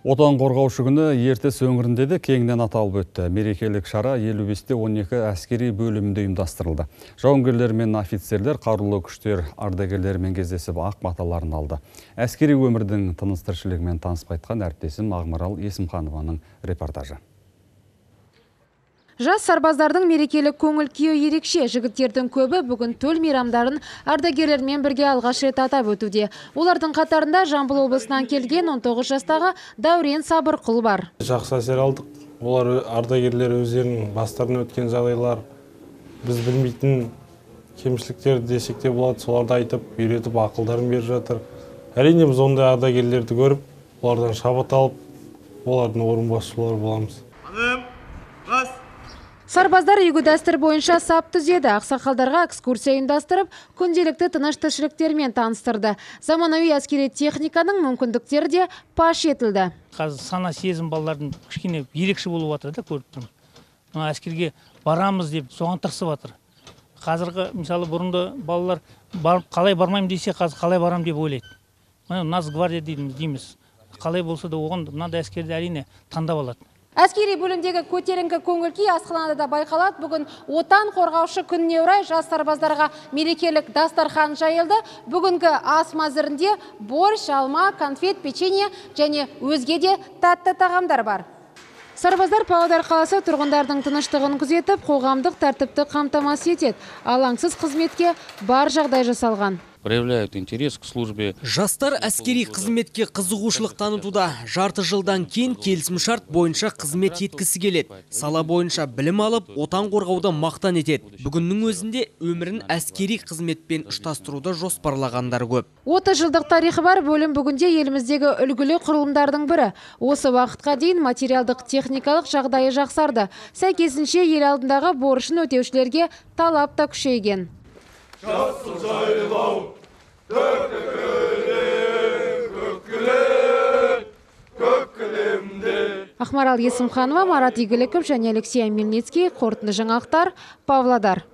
Отан қорғаушы күні ертіс өңірінде де кеңінен аталып өтті. Мерекелік шара 55-те 12 әскери бөлімінде ұйымдастырылды. Жауынгерлер мен офицерлер қарулы күштер ардагерлерімен кездесіп ақ баталарын алды. Әскери өмірдің тыныс тіршілігімен танысып қайтқан әріптесім Ақмарал Есімханованың репортажы. Жас сарбаздардың мерекелік көңіл күйі ерекше. Жігіттердің көбі бүгін төл мейрамдарын ардагерлермен бірге алғаш рет атап өтуде. Олардың қатарында Жамбыл облысынан келген 19 жастағы Дәурен Сабырқұл бар. Жақсы әсер алдық. Олар ардагерлер өздерінің бастарынан өткен жағдайлар, біз білмейтін кемшіліктер десек те болады, соларды айтып, үйретіп, ақылдарын беріп жатыр. Әрине біз ондай ардагерлерді көріп, олардан шабыт алып, олардың орынбасшылары боламыз. Сарбаздар игі дәстүр бойынша сап түзеді. Ақсақалдарға экскурсия ұйымдастырып, күнделікті тыныш тіршіліктермен таныстырды. Заманауи әскери техниканың мүмкіндіктері де паш етілді. Қазір сана сезім балалардың кішкене ерекше болып жатыр да, көріп тұрмын. Әскерге барамыз деп соған тырысып жатыр. Қазіргі мысалы бұрынды балалар қалай бармайым десе, қазір қалай барам деп ойлайды. Нацгвардия дейміз. Қалай болса да оған мынандай әскерді әрине таңдап алады. Әскери бөлімдегі көтеріңкі көңіл-күй асханада да байқалады. Бүгін отан қорғаушы күніне орай жас сарбаздарға мерекелік дастархан жайылды. Бүгінгі ас мәзірінде борщ, алма, конфет, печенье және өзге де тәтті тағамдар бар. Сарбаздар Павлодар қаласы тұрғындардың тыныштығын күзетіп, қоғамдық тәртіпті қамтамасыз етеді. Алаңсыз қызметке бар жағдай жасалған. Проявляют интерес к службе. Жастар әскери қызметке қызығушылық танытуда. Жарты жылдан кейін келісімшарт бойынша қызмет еткісі келеді. Сала бойынша білім алып, отан қорғауды мақтан етеді. Бүгіннің өзінде өмірін әскери қызметпен ұштастыруды жоспарлағандар көп. 30 жылдық тарихы бар бөлім бүгінде еліміздегі үлгілі құрылымдардың бірі. Осы уақытқа дейін материалдық техникалық жағдайы жақсарды. Сәйкесінше ел алдындағы борышын өтеушілерге талап та күшейген. Жасыл жайлау, Ақмарал Есімханова, Марат Игіліков және Алексей Мельницкий, қорытынды жаңалықтар, Павлодар.